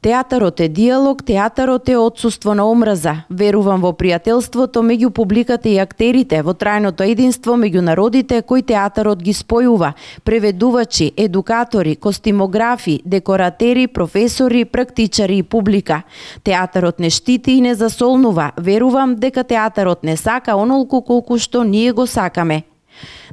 Театарот е диалог, театарот е отсуство на омраза. Верувам во пријателството меѓу публиката и актерите, во трајното единство меѓу народите кои театарот ги спојува. Преведувачи, едукатори, костимографи, декоратери, професори, практичари и публика. Театарот не штити и не засолнува. Верувам дека театарот не сака онолку колку што ние го сакаме.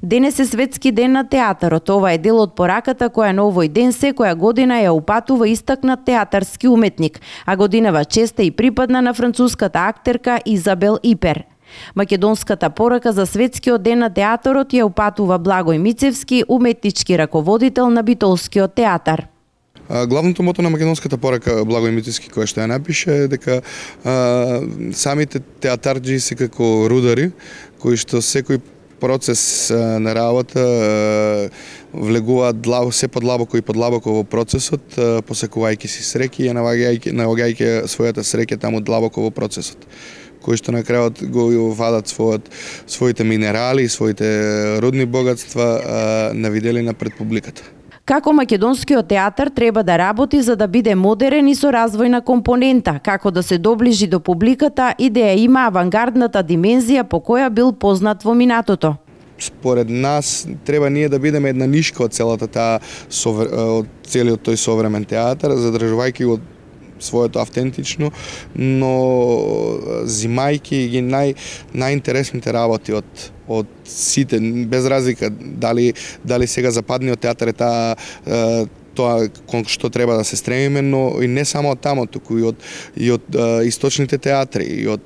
Денес е светски ден на театарот. Ова е дел од пораката која на овој ден секоја година ја упатува истакнат театарски уметник, а годинава честа и припадна на француската актерка Изабел Ипер. Македонската порака за светскиот ден на театарот ја упатува Благој Мицевски, уметнички раководител на Битолскиот театар. Главното мото на македонската порака Благој Мицевски која што ја напише е дека самите театарџи се како рудари кои што секој процес на работа влегуваат се подлабоко и подлабоко во процесот, посекувајќи си среќи и наоѓајќи својата среќа таму длабоко во процесот, кои што на крајот го вадат своите минерали, своите рудни богатства на виделина пред публиката. Како македонскиот театар треба да работи за да биде модерен и со развојна компонента, како да се доближи до публиката и да ја има авангардната димензија по која бил познат во минатото. Според нас треба ние да бидеме една нишка од целата од целиот тој современ театар, задржувајќи го своето автентично, но зимајќи ги најинтересните работи од сите, без разлика дали сега западниот театар е тоа кон што треба да се стремиме, но и не само од тамо, туку и од источните театри, и од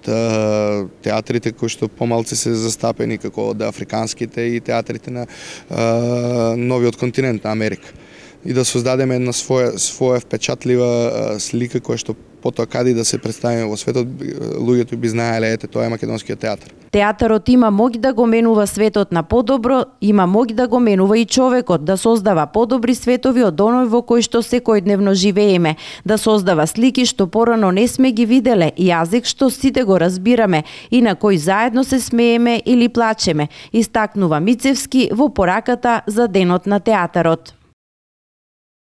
театрите кои што помалце се застапени, како од африканските и театрите на новиот континент на Америка. И да создадеме една своја впечатлива слика која што потоа каде да се представиме во светот, луѓето би знаеле, ете, тоа е македонскиот театар. Театарот има моќ да го менува светот на подобро, има моќ да го менува и човекот, да создава подобри светови од оној во кој што секојдневно живееме, да создава слики што порано не сме ги виделе, јазик што сите го разбираме и на кој заедно се смееме или плачеме, истакнува Мицевски во пораката за денот на театарот.